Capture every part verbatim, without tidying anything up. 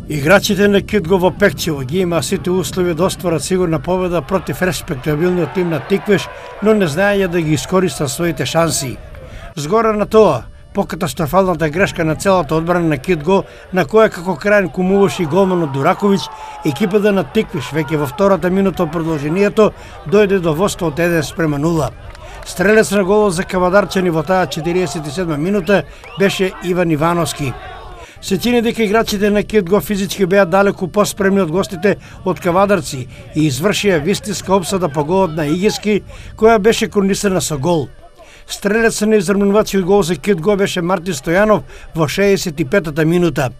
Играчите на Кидго во Пекчево ги има сите услови да остварат сигурна победа против респектабилниот тим на Тиквеш, но не знаеја да ги искористат своите шанси. Згора на тоа, покатастрофалната грешка на целата одбрана на Кидго, на која како крајен кумуваше и голманот Дураковиќ, екипата на Тиквеш веќе во втората минута од продолжението дојде до воство од еден спрема нула. Стрелец на голот за кавадарчани во таа четириесет и седма минута беше Иван Ивановски. Се чини дека играчите на Кидго физички беа далеку поспремни од гостите од кавадарци и извршија вистинска опсада по голот на Игески, која беше корунисана со гол. Стрелец на изравнувачиот гол за Кидго беше Мартин Стојанов во шеесет и петата минута.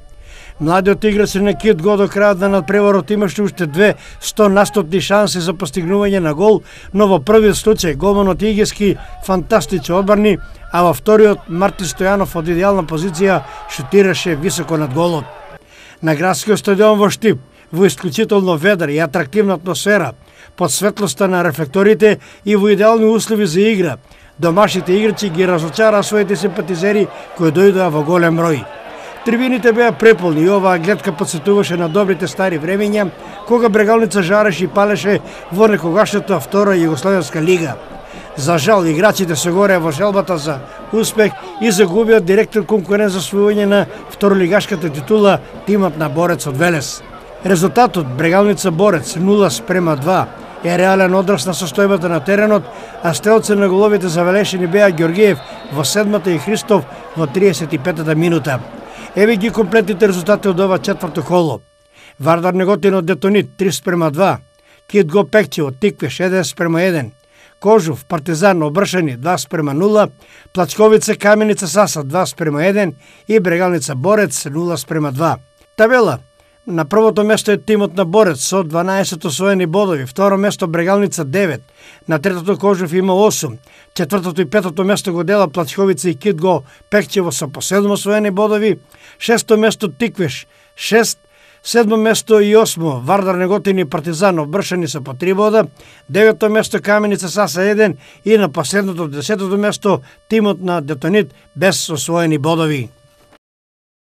Младиот играч на Кидго до крајот на надпреварот имаше уште две стонастотни шанси за постигнување на гол, но во првиот случај голманот Игески фантастично одбрани, а во вториот Мартин Стојанов од идеална позиција шутираше високо над голот. На градскиот стадион во Штип, во исклучително ведра и атрактивна атмосфера, под светлоста на рефлекторите и во идеални услови за игра, домашните играчи ги разочараа своите симпатизери кои дојдоа во голем број. Трибините беа преполни и оваа гледка подсетуваше на добрите стари времења, кога Брегалница жареше и палеше во некогашната втора Југословенска лига. За жал, играчите се горе во желбата за успех и загубиот директен конкурент за освојување на второлигашката титула, тимот на Борец од Велес. Резултатот Брегалница Борец нула спрема два е реален одраз на состојбата на теренот, а стрелци на головите завелешени беа Ѓоргиев во седмата и Христов во триесет и петата минута. Еве ги комплетните резултати од ова четврто коло. Вардар Неготин од Детонит три спрема два, Кидго Пекчево Тиквеш еден спрема еден, Кожув Партизан Обршани два спрема нула, Плачковица Каменица Саса два спрема еден и Брегалница Борец нула спрема два. Табела. На првото место е тимот на Борец со дванаесет освоени бодови, второ место Брегалница девет, на третото Кожув има осум, четвртото и петото место го дела Плачковица и Кидго Пекчево со по седум освоени бодови, шесто место Тиквеш шест, седмо место и осмо Вардар Неготин и Партизан Обршани со по три бода, девето место Каменица Саса еден и на последното десетото место тимот на Детонит без освоени бодови.